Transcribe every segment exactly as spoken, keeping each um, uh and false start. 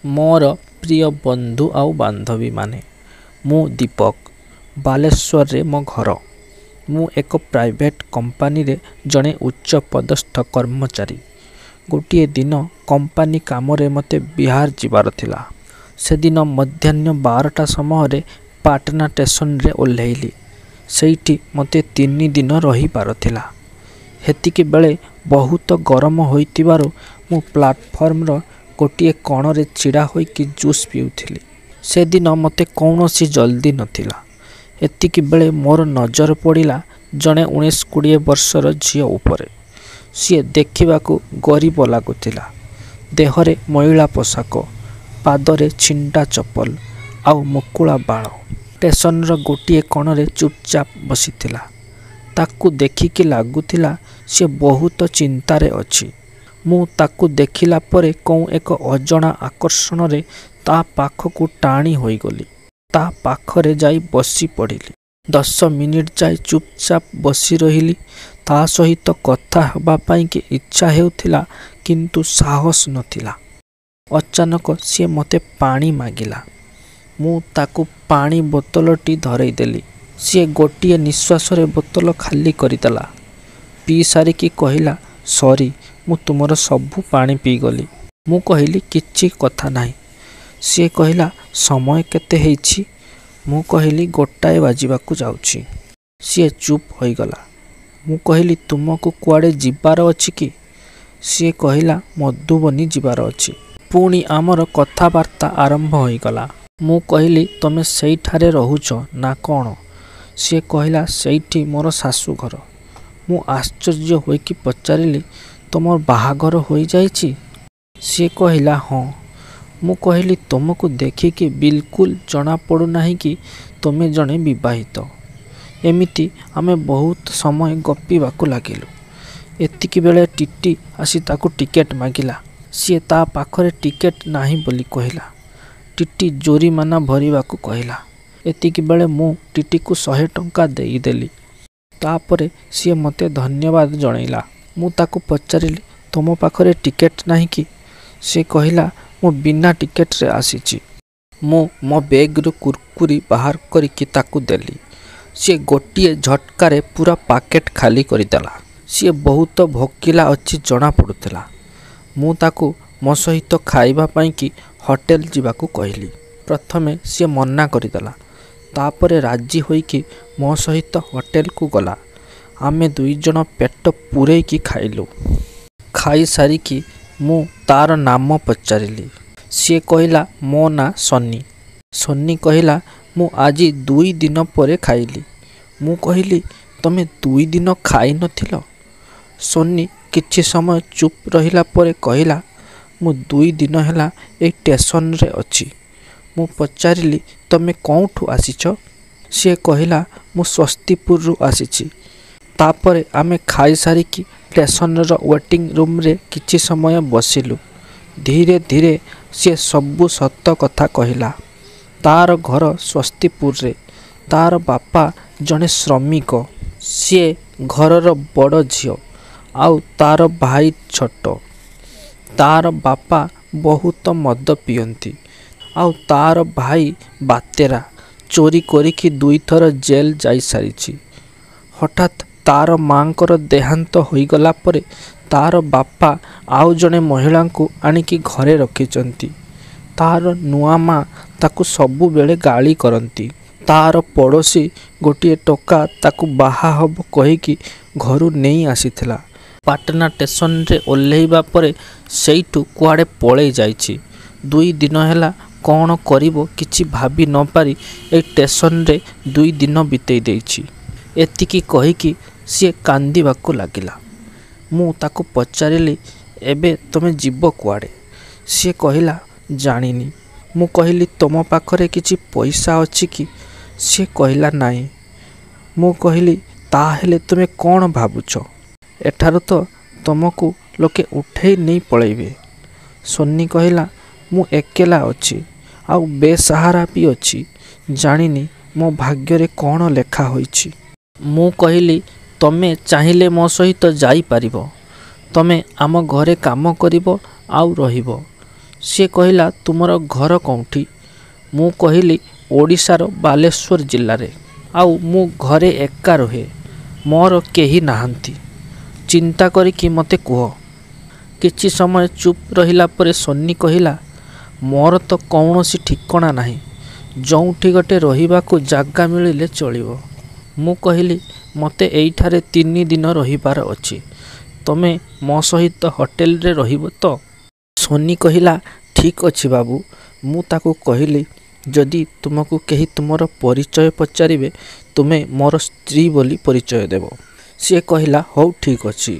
ମୋର ପ୍ରିୟ ବନ୍ଧୁ ଆଉ ବାନ୍ଧବୀମାନେ, ମୁଁ ଦୀପକ। ବାଲେଶ୍ୱରରେ ମୋ ଘର। ମୁଁ ଏକ ପ୍ରାଇଭେଟ୍ କମ୍ପାନୀରେ ଜଣେ ଉଚ୍ଚପଦସ୍ଥ କର୍ମଚାରୀ। ଗୋଟିଏ ଦିନ କମ୍ପାନୀ କାମରେ ମୋତେ ବିହାର ଯିବାର ଥିଲା। ସେଦିନ ମଧ୍ୟାହ୍ନ ବାରଟା ସମୟରେ ପାଟନା ଷ୍ଟେସନରେ ଓହ୍ଲେଇଲି। ସେଇଠି ମୋତେ ତିନି ଦିନ ରହିବାର ଥିଲା। ସେତିକିବେଳେ ବହୁତ ଗରମ ହୋଇଥିବାରୁ ମୁଁ ପ୍ଲାଟଫର୍ମର ଗୋଟିଏ କଣରେ ଛିଡ଼ା ହୋଇକି ଜୁସ୍ ପିଉଥିଲି। ସେଦିନ ମୋତେ କୌଣସି ଜଲ୍ଦି ନଥିଲା। ଏତିକିବେଳେ ମୋର ନଜର ପଡ଼ିଲା ଜଣେ ଉଣେଇଶ କୋଡ଼ିଏ ବର୍ଷର ଝିଅ ଉପରେ। ସିଏ ଦେଖିବାକୁ ଗରିବ ଲାଗୁଥିଲା। ଦେହରେ ମଇଳା ପୋଷାକ, ପାଦରେ ଛିଣ୍ଡା ଚପଲ ଆଉ ମୁକୁଳା ବାଳ। ଷ୍ଟେସନର ଗୋଟିଏ କଣରେ ଚୁପଚାପ ବସିଥିଲା। ତାକୁ ଦେଖିକି ଲାଗୁଥିଲା ସିଏ ବହୁତ ଚିନ୍ତାରେ ଅଛି। ମୁଁ ତାକୁ ଦେଖିଲା ପରେ କେଉଁ ଏକ ଅଜଣା ଆକର୍ଷଣରେ ତା ପାଖକୁ ଟାଣି ହୋଇଗଲି। ତା ପାଖରେ ଯାଇ ବସିପଡ଼ିଲି। ଦଶ ମିନିଟ୍ ଯାଏ ଚୁପଚାପ ବସି ରହିଲି। ତା ସହିତ କଥା ହେବା ପାଇଁକି ଇଚ୍ଛା ହେଉଥିଲା, କିନ୍ତୁ ସାହସ ନଥିଲା। ଅଚାନକ ସିଏ ମୋତେ ପାଣି ମାଗିଲା। ମୁଁ ତାକୁ ପାଣି ବୋତଲଟି ଧରେଇଦେଲି। ସିଏ ଗୋଟିଏ ନିଶ୍ୱାସରେ ବୋତଲ ଖାଲି କରିଦେଲା। ପିଇ ସାରିକି କହିଲା, ସରି, ମୁଁ ତୁମର ସବୁ ପାଣି ପିଇଗଲି। ମୁଁ କହିଲି, କିଛି କଥା ନାହିଁ। ସିଏ କହିଲା, ସମୟ କେତେ ହେଇଛି? ମୁଁ କହିଲି, ଗୋଟାଏ ବାଜିବାକୁ ଯାଉଛି। ସିଏ ଚୁପ୍ ହୋଇଗଲା। ମୁଁ କହିଲି, ତୁମକୁ କୁଆଡ଼େ ଯିବାର ଅଛି କି? ସିଏ କହିଲା, ମଧୁବନୀ ଯିବାର ଅଛି। ପୁଣି ଆମର କଥାବାର୍ତ୍ତା ଆରମ୍ଭ ହୋଇଗଲା। ମୁଁ କହିଲି, ତମେ ସେଇଠାରେ ରହୁଛ ନା କ'ଣ? ସିଏ କହିଲା, ସେଇଠି ମୋର ଶାଶୁଘର। ମୁଁ ଆଶ୍ଚର୍ଯ୍ୟ ହୋଇକି ପଚାରିଲି, ତୁମର ବାହାଘର ହୋଇଯାଇଛି? ସିଏ କହିଲା, ହଁ। ମୁଁ କହିଲି, ତୁମକୁ ଦେଖିକି ବିଲକୁଲ ଜଣାପଡ଼ୁନାହିଁ କି ତୁମେ ଜଣେ ବିବାହିତ। ଏମିତି ଆମେ ବହୁତ ସମୟ ଗପିବାକୁ ଲାଗିଲୁ। ଏତିକିବେଳେ ଟିଟି ଆସି ତାକୁ ଟିକେଟ୍ ମାଗିଲା। ସିଏ ତା ପାଖରେ ଟିକେଟ୍ ନାହିଁ ବୋଲି କହିଲା। ଟିଟି ଜୋରିମାନା ଭରିବାକୁ କହିଲା। ଏତିକିବେଳେ ମୁଁ ଟିଟିକୁ ଶହେ ଟଙ୍କା ଦେଇଦେଲି। ତାପରେ ସିଏ ମୋତେ ଧନ୍ୟବାଦ ଜଣେଇଲା। ମୁଁ ତାକୁ ପଚାରିଲି, ତୁମ ପାଖରେ ଟିକେଟ୍ ନାହିଁ କି? ସିଏ କହିଲା, ମୁଁ ବିନା ଟିକେଟ୍ରେ ଆସିଛି। ମୁଁ ମୋ ବେଗ୍ରୁ କୁରକୁରି ବାହାର କରିକି ତାକୁ ଦେଲି। ସିଏ ଗୋଟିଏ ଝଟକାରେ ପୂରା ପ୍ୟାକେଟ୍ ଖାଲି କରିଦେଲା। ସିଏ ବହୁତ ଭୋକିଲା ଅଛି ଜଣାପଡ଼ୁଥିଲା। ମୁଁ ତାକୁ ମୋ ସହିତ ଖାଇବା ପାଇଁକି ହୋଟେଲ ଯିବାକୁ କହିଲି। ପ୍ରଥମେ ସିଏ ମନା କରିଦେଲା। ତାପରେ ରାଜି ହୋଇକି ମୋ ସହିତ ହୋଟେଲକୁ ଗଲା। ଆମେ ଦୁଇଜଣ ପେଟ ପୂରେଇକି ଖାଇଲୁ। ଖାଇସାରିକି ମୁଁ ତାର ନାମ ପଚାରିଲି। ସିଏ କହିଲା, ମୋ ନାଁ ସନି। ସନି କହିଲା, ମୁଁ ଆଜି ଦୁଇ ଦିନ ପରେ ଖାଇଲି। ମୁଁ କହିଲି, ତମେ ଦୁଇ ଦିନ ଖାଇନଥିଲ? ସନି କିଛି ସମୟ ଚୁପ୍ ରହିଲା ପରେ କହିଲା, ମୁଁ ଦୁଇ ଦିନ ହେଲା ଏଇ ଷ୍ଟେସନରେ ଅଛି। ମୁଁ ପଚାରିଲି, ତମେ କେଉଁଠୁ ଆସିଛ? ସିଏ କହିଲା, ମୁଁ ସ୍ୱସ୍ତିପୁରରୁ ଆସିଛି। ତାପରେ ଆମେ ଖାଇସାରିକି ଷ୍ଟେସନର ୱେଟିଂ ରୁମ୍ରେ କିଛି ସମୟ ବସିଲୁ। ଧୀରେ ଧୀରେ ସିଏ ସବୁ ସତ କଥା କହିଲା। ତାର ଘର ସ୍ୱସ୍ତିପୁରରେ। ତାର ବାପା ଜଣେ ଶ୍ରମିକ। ସିଏ ଘରର ବଡ଼ ଝିଅ ଆଉ ତାର ଭାଇ ଛୋଟ। ତାର ବାପା ବହୁତ ମଦ ପିଅନ୍ତି ଆଉ ତାର ଭାଇ ବାତେରା, ଚୋରି କରିକି ଦୁଇଥର ଜେଲ୍ ଯାଇସାରିଛି। ହଠାତ୍ ତାର ମାଆଙ୍କର ଦେହାନ୍ତ ହୋଇଗଲା ପରେ ତାର ବାପା ଆଉ ଜଣେ ମହିଳାଙ୍କୁ ଆଣିକି ଘରେ ରଖିଛନ୍ତି। ତାର ନୂଆ ମା ତାକୁ ସବୁବେଳେ ଗାଳି କରନ୍ତି। ତାର ପଡ଼ୋଶୀ ଗୋଟିଏ ଟୋକା ତାକୁ ବାହା ହେବ କହିକି ଘରୁ ନେଇ ଆସିଥିଲା। ପାଟନା ଷ୍ଟେସନରେ ଓହ୍ଲେଇବା ପରେ ସେଇଠୁ କୁଆଡ଼େ ପଳେଇ ଯାଇଛି। ଦୁଇ ଦିନ ହେଲା କ'ଣ କରିବ କିଛି ଭାବି ନପାରି ଏଇ ଷ୍ଟେସନରେ ଦୁଇ ଦିନ ବିତେଇ ଦେଇଛି। ଏତିକି କହିକି ସିଏ କାନ୍ଦିବାକୁ ଲାଗିଲା। ମୁଁ ତାକୁ ପଚାରିଲି, ଏବେ ତମେ ଯିବ କୁଆଡ଼େ? ସିଏ କହିଲା, ଜାଣିନି। ମୁଁ କହିଲି, ତୁମ ପାଖରେ କିଛି ପଇସା ଅଛି କି? ସିଏ କହିଲା, ନାଇଁ। ମୁଁ କହିଲି, ତାହେଲେ ତୁମେ କ'ଣ ଭାବୁଛ? ଏଠାରୁ ତ ତୁମକୁ ଲୋକେ ଉଠେଇ ନେଇ ପଳେଇବେ। ସୋନି କହିଲା, ମୁଁ ଏକେଲା ଅଛି ଆଉ ବେସାହାରା ବି ଅଛି। ଜାଣିନି ମୋ ଭାଗ୍ୟରେ କ'ଣ ଲେଖା ହୋଇଛି। ମୁଁ କହିଲି, ତମେ ଚାହିଁଲେ ମୋ ସହିତ ଯାଇପାରିବ। ତମେ ଆମ ଘରେ କାମ କରିବ ଆଉ ରହିବ। ସିଏ କହିଲା ତୁମର ଘର କେଉଁଠି? ମୁଁ କହିଲି ଓଡ଼ିଶାର ବାଲେଶ୍ୱର ଜିଲ୍ଲାରେ, ଆଉ ମୁଁ ଘରେ ଏକା ରୁହେ, ମୋର କେହି ନାହାନ୍ତି। ଚିନ୍ତା କରିକି ମୋତେ କୁହ। କିଛି ସମୟ ଚୁପ୍ ରହିଲା ପରେ ସୋନି କହିଲା, ମୋର ତ କୌଣସି ଠିକଣା ନାହିଁ, ଯୋଉଠି ଗୋଟେ ରହିବାକୁ ଜାଗା ମିଳିଲେ ଚଳିବ। ମୁଁ କହିଲି ମୋତେ ଏଇଠାରେ ତିନି ଦିନ ରହିବାର ଅଛି, ତମେ ମୋ ସହିତ ହୋଟେଲରେ ରହିବ ତ? ସୋନି କହିଲା ଠିକ୍ ଅଛି ବାବୁ। ମୁଁ ତାକୁ କହିଲି ଯଦି ତୁମକୁ କେହି ତୁମର ପରିଚୟ ପଚାରିବେ ତୁମେ ମୋର ସ୍ତ୍ରୀ ବୋଲି ପରିଚୟ ଦେବ। ସିଏ କହିଲା ହଉ ଠିକ୍ ଅଛି।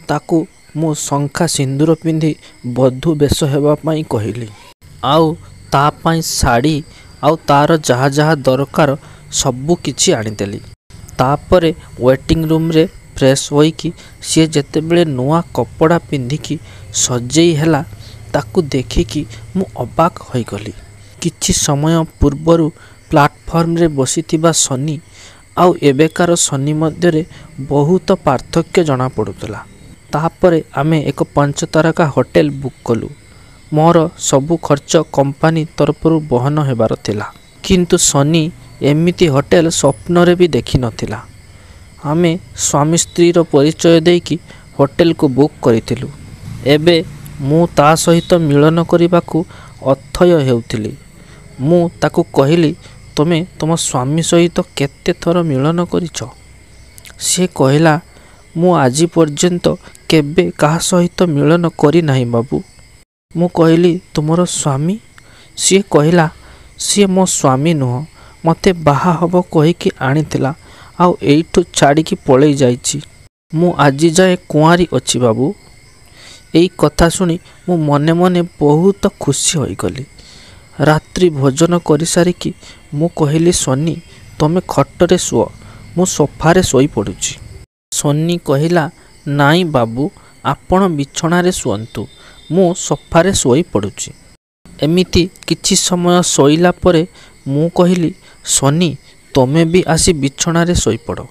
ତାକୁ ମୁଁ ଶଙ୍ଖା ସିନ୍ଦୁର ପିନ୍ଧି ବଧୂ ବେଶ ହେବା ପାଇଁ କହିଲି। ଆଉ ତା ପାଇଁ ଶାଢ଼ୀ ଆଉ ତାର ଯାହା ଯାହା ଦରକାର ସବୁ କିଛି ଆଣିଦେଲି। ତାପରେ ୱେଟିଂ ରୁମ୍ରେ ଫ୍ରେଶ୍ ହୋଇକି ସିଏ ଯେତେବେଳେ ନୂଆ କପଡ଼ା ପିନ୍ଧିକି ସଜେଇ ହେଲା ତାକୁ ଦେଖିକି ମୁଁ ଅବାକ୍ ହୋଇଗଲି। କିଛି ସମୟ ପୂର୍ବରୁ ପ୍ଲାଟଫର୍ମରେ ବସିଥିବା ସନି ଆଉ ଏବେକାର ସନି ମଧ୍ୟରେ ବହୁତ ପାର୍ଥକ୍ୟ ଜଣାପଡ଼ୁଥିଲା। ତାପରେ ଆମେ ଏକ ପଞ୍ଚତାରକା ହୋଟେଲ ବୁକ୍ କଲୁ। ମୋର ସବୁ ଖର୍ଚ୍ଚ କମ୍ପାନୀ ତରଫରୁ ବହନ ହେବାର ଥିଲା। କିନ୍ତୁ ସନି ଏମିତି ହୋଟେଲ ସ୍ୱପ୍ନରେ ବି ଦେଖିନଥିଲା। ଆମେ ସ୍ୱାମୀ ସ୍ତ୍ରୀର ପରିଚୟ ଦେଇକି ହୋଟେଲକୁ ବୁକ୍ କରିଥିଲୁ। ଏବେ ମୁଁ ତା ସହିତ ମିଳନ କରିବାକୁ ଅଥୟ ହେଉଥିଲି। ମୁଁ ତାକୁ କହିଲି ତୁମେ ତୁମ ସ୍ୱାମୀ ସହିତ କେତେ ଥର ମିଳନ କରିଛ? ସିଏ କହିଲା ମୁଁ ଆଜି ପର୍ଯ୍ୟନ୍ତ କେବେ କାହା ସହିତ ମିଳନ କରିନାହିଁ ବାବୁ। ମୁଁ କହିଲି ତୁମର ସ୍ୱାମୀ? ସିଏ କହିଲା ସିଏ ମୋ ସ୍ୱାମୀ ନୁହଁ, ମୋତେ ବାହା ହେବ କହିକି ଆଣିଥିଲା ଆଉ ଏଇଠୁ ଛାଡ଼ିକି ପଳେଇ ଯାଇଛି। ମୁଁ ଆଜି ଯାଏଁ କୁଆଁରୀ ଅଛି ବାବୁ। ଏଇ କଥା ଶୁଣି ମୁଁ ମନେ ମନେ ବହୁତ ଖୁସି ହୋଇଗଲି। ରାତ୍ରି ଭୋଜନ କରିସାରିକି ମୁଁ କହିଲି ସୋନି ତମେ ଖଟରେ ଶୁଅ, ମୁଁ ସୋଫାରେ ଶୋଇପଡ଼ୁଛି। ସୋନି କହିଲା ନାଇଁ ବାବୁ ଆପଣ ବିଛଣାରେ ଶୁଅନ୍ତୁ, ମୁଁ ସୋଫାରେ ଶୋଇପଡ଼ୁଛି। ଏମିତି କିଛି ସମୟ ଶୋଇଲା ପରେ ମୁଁ କହିଲି ସୋନି ତମେ ବି ଆସି ବିଛଣାରେ ଶୋଇପଡ଼।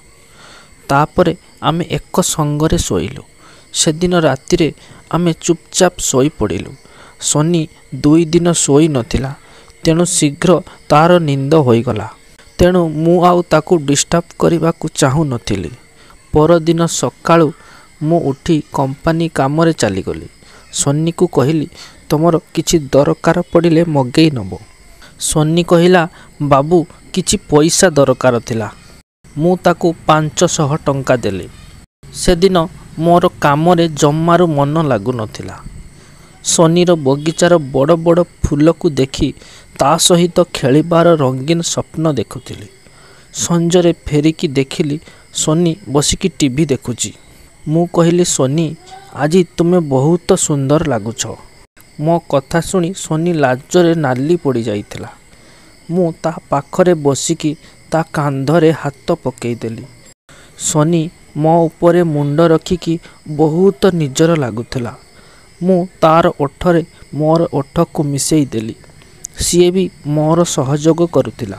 ତାପରେ ଆମେ ଏକ ସଙ୍ଗରେ ଶୋଇଲୁ। ସେଦିନ ରାତିରେ ଆମେ ଚୁପଚାପ ଶୋଇପଡ଼ିଲୁ। ସୋନି ଦୁଇ ଦିନ ଶୋଇନଥିଲା, ତେଣୁ ଶୀଘ୍ର ତାର ନିଦ ହୋଇଗଲା। ତେଣୁ ମୁଁ ଆଉ ତାକୁ ଡିଷ୍ଟର୍ବ କରିବାକୁ ଚାହୁଁନଥିଲି। ପରଦିନ ସକାଳୁ ମୁଁ ଉଠି କମ୍ପାନୀ କାମରେ ଚାଲିଗଲି। ସୋନିକୁ କହିଲି ତୁମର କିଛି ଦରକାର ପଡ଼ିଲେ ମଗେଇ ନେବ। ସୋନି କହିଲା ବାବୁ କିଛି ପଇସା ଦରକାର ଥିଲା। ମୁଁ ତାକୁ ପାଞ୍ଚଶହ ଟଙ୍କା ଦେଲି। ସେଦିନ ମୋର କାମରେ ଜମାରୁ ମନ ଲାଗୁନଥିଲା। ସୋନିର ବଗିଚାର ବଡ଼ ବଡ଼ ଫୁଲକୁ ଦେଖି ତା ସହିତ ଖେଳିବାର ରଙ୍ଗୀନ ସ୍ୱପ୍ନ ଦେଖୁଥିଲି। ସଞ୍ଜରେ ଫେରିକି ଦେଖିଲି ସୋନି ବସିକି ଟିଭି ଦେଖୁଛି। ମୁଁ କହିଲି ସୋନି ଆଜି ତୁମେ ବହୁତ ସୁନ୍ଦର ଲାଗୁଛ। ମୋ କଥା ଶୁଣି ସୋନି ଲାଜରେ ନାଲି ପଡ଼ିଯାଇଥିଲା। ମୁଁ ତା ପାଖରେ ବସିକି ତା କାନ୍ଧରେ ହାତ ପକେଇଦେଲି। ସୋନି ମୋ ଉପରେ ମୁଣ୍ଡ ରଖିକି ବହୁତ ନିଜର ଲାଗୁଥିଲା। ମୁଁ ତାର ଓଠରେ ମୋର ଓଠକୁ ମିଶେଇ ଦେଲି। ସିଏ ବି ମୋର ସହଯୋଗ କରୁଥିଲା।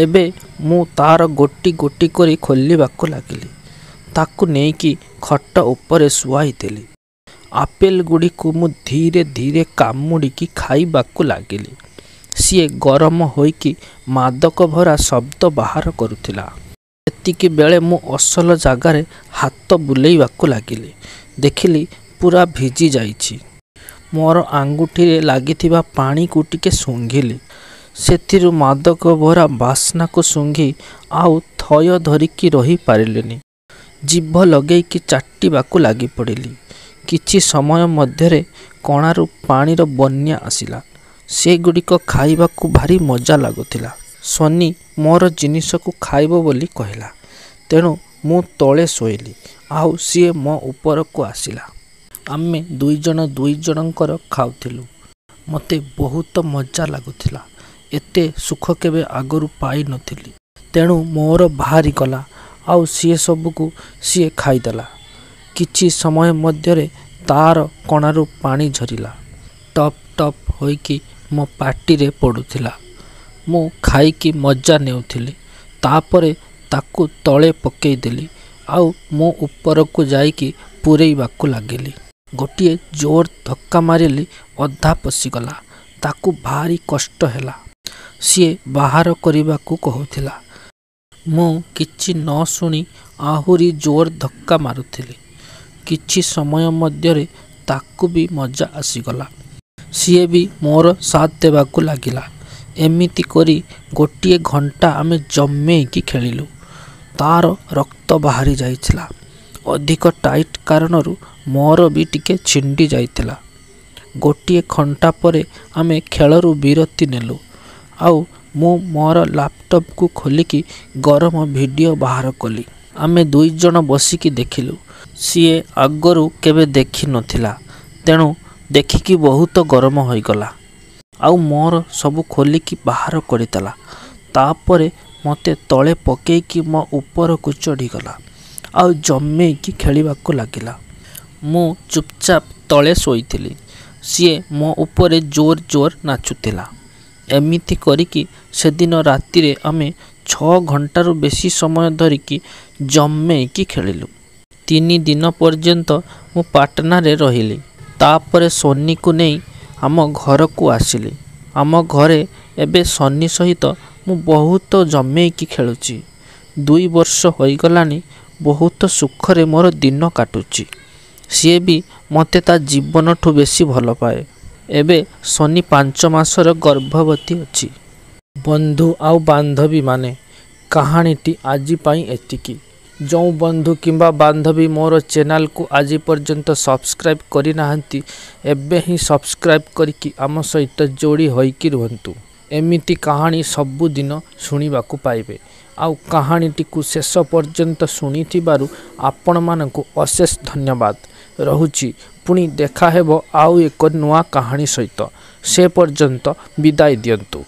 ଏବେ ମୁଁ ତାର ଗୋଟି ଗୋଟି କରି ଖୋଲିବାକୁ ଲାଗିଲି। ତାକୁ ନେଇକି ଖଟ ଉପରେ ଶୁଆଇଦେଲି। ଆପେଲଗୁଡ଼ିକୁ ମୁଁ ଧୀରେ ଧୀରେ କାମୁଡ଼ିକି ଖାଇବାକୁ ଲାଗିଲି। ସିଏ ଗରମ ହୋଇକି ମାଦକ ଭରା ଶବ୍ଦ ବାହାର କରୁଥିଲା। ସେତିକିବେଳେ ମୁଁ ଅସଲ ଜାଗାରେ ହାତ ବୁଲେଇବାକୁ ଲାଗିଲି। ଦେଖିଲି ପୂରା ଭିଜି ଯାଇଛି। ମୋର ଆଙ୍ଗୁଠିରେ ଲାଗିଥିବା ପାଣିକୁ ଟିକେ ଶୁଙ୍ଘିଲି। ସେଥିରୁ ମାଦକ ଭରା ବାସ୍ନାକୁ ଶୁଙ୍ଘି ଆଉ ଥୟ ଧରିକି ରହିପାରିଲିନି। ଜିଭ ଲଗେଇକି ଚାଟିବାକୁ ଲାଗିପଡ଼ିଲି। କିଛି ସମୟ ମଧ୍ୟରେ କଣାରୁ ପାଣିର ବନ୍ୟା ଆସିଲା। ସେଗୁଡ଼ିକ ଖାଇବାକୁ ଭାରି ମଜା ଲାଗୁଥିଲା। ସୋନି ମୋର ଜିନିଷକୁ ଖାଇବ ବୋଲି କହିଲା। ତେଣୁ ମୁଁ ତଳେ ଶୋଇଲି ଆଉ ସିଏ ମୋ ଉପରକୁ ଆସିଲା। ଆମେ ଦୁଇଜଣ ଦୁଇଜଣଙ୍କର ଖାଉଥିଲୁ। ମୋତେ ବହୁତ ମଜା ଲାଗୁଥିଲା। ଏତେ ସୁଖ କେବେ ଆଗରୁ ପାଇନଥିଲି। ତେଣୁ ମୋର ବାହାରିଗଲା ଆଉ ସିଏ ସବୁକୁ ସିଏ ଖାଇଦେଲା। କିଛି ସମୟ ମଧ୍ୟରେ ତାର କଣାରୁ ପାଣି ଝରିଲା। ଟପ୍ ଟପ୍ ହୋଇକି ମୋ ପାଟିରେ ପଡ଼ୁଥିଲା। ମୁଁ ଖାଇକି ମଜା ନେଉଥିଲି। ତାପରେ ତାକୁ ତଳେ ପକେଇଦେଲି ଆଉ ମୁଁ ଉପରକୁ ଯାଇକି ପୂରେଇବାକୁ ଲାଗିଲି। ଗୋଟିଏ ଜୋର ଧକ୍କା ମାରିଲି, ଅଧା ପଶିଗଲା। ତାକୁ ଭାରି କଷ୍ଟ ହେଲା। ସିଏ ବାହାର କରିବାକୁ କହୁଥିଲା। ମୁଁ କିଛି ନ ଶୁଣି ଆହୁରି ଜୋର ଧକ୍କା ମାରୁଥିଲି। କିଛି ସମୟ ମଧ୍ୟରେ ତାକୁ ବି ମଜା ଆସିଗଲା। ସିଏ ବି ମୋର ସାଥ ଦେବାକୁ ଲାଗିଲା। ଏମିତି କରି ଗୋଟିଏ ଘଣ୍ଟା ଆମେ ଜମେଇକି ଖେଳିଲୁ। ତାର ରକ୍ତ ବାହାରି ଯାଇଥିଲା। ଅଧିକ ଟାଇଟ୍ କାରଣରୁ ମୋର ବି ଟିକେ ଛିଣ୍ଡି ଯାଇଥିଲା। ଗୋଟିଏ ଘଣ୍ଟା ପରେ ଆମେ ଖେଳରୁ ବିରତି ନେଲୁ ଆଉ ମୁଁ ମୋର ଲାପଟପକୁ ଖୋଲିକି ଗରମ ଭିଡ଼ିଓ ବାହାର କଲି। ଆମେ ଦୁଇଜଣ ବସିକି ଦେଖିଲୁ। ସିଏ ଆଗରୁ କେବେ ଦେଖି ନଥିଲା, ତେଣୁ ଦେଖିକି ବହୁତ ଗରମ ହୋଇଗଲା। ଆଉ ମୋର ସବୁ ଖୋଲିକି ବାହାର କରିଦେଲା। ତାପରେ ମୋତେ ତଳେ ପକେଇକି ମୋ ଉପରକୁ ଚଢ଼ିଗଲା ଆଉ ଜମେଇକି ଖେଳିବାକୁ ଲାଗିଲା। ମୁଁ ଚୁପଚାପ ତଳେ ଶୋଇଥିଲି। ସିଏ ମୋ ଉପରେ ଜୋର ଜୋର ନାଚୁଥିଲା। ଏମିତି କରିକି ସେଦିନ ରାତିରେ ଆମେ ଛଅ ଘଣ୍ଟାରୁ ବେଶୀ ସମୟ ଧରିକି ଜମେଇକି ଖେଳିଲୁ। ତିନି ଦିନ ପର୍ଯ୍ୟନ୍ତ ମୁଁ ପାଟନାରେ ରହିଲି। ତାପରେ ସୋନିକୁ ନେଇ ଆମ ଘରକୁ ଆସିଲି। ଆମ ଘରେ ଏବେ ସନି ସହିତ ମୁଁ ବହୁତ ଜମେଇକି ଖେଳୁଛି। ଦୁଇ ବର୍ଷ ହୋଇଗଲାଣି, ବହୁତ ସୁଖରେ ମୋର ଦିନ କାଟୁଛି। ସିଏ ବି ମୋତେ ତା ଜୀବନଠୁ ବେଶୀ ଭଲ ପାଏ। ଏବେ ସନି ପାଞ୍ଚ ମାସର ଗର୍ଭବତୀ ଅଛି। ବନ୍ଧୁ ଆଉ ବାନ୍ଧବୀମାନେ, କାହାଣୀଟି ଆଜି ପାଇଁ ଏତିକି। ଯେଉଁ ବନ୍ଧୁ କିମ୍ବା ବାନ୍ଧବୀ ମୋର ଚ୍ୟାନେଲକୁ ଆଜି ପର୍ଯ୍ୟନ୍ତ ସବସ୍କ୍ରାଇବ୍ କରିନାହାନ୍ତି, ଏବେ ହିଁ ସବସ୍କ୍ରାଇବ୍ କରିକି ଆମ ସହିତ ଯୋଡ଼ି ହୋଇକି ରୁହନ୍ତୁ। ଏମିତି କାହାଣୀ ସବୁଦିନ ଶୁଣିବାକୁ ପାଇବେ। ଆଉ କାହାଣୀଟିକୁ ଶେଷ ପର୍ଯ୍ୟନ୍ତ ଶୁଣିଥିବାରୁ ଆପଣମାନଙ୍କୁ ଅଶେଷ ଧନ୍ୟବାଦ। ରହୁଛି, ପୁଣି ଦେଖାହେବ ଆଉ ଏକ ନୂଆ କାହାଣୀ ସହିତ। ସେ ପର୍ଯ୍ୟନ୍ତ ବିଦାୟ ଦିଅନ୍ତୁ।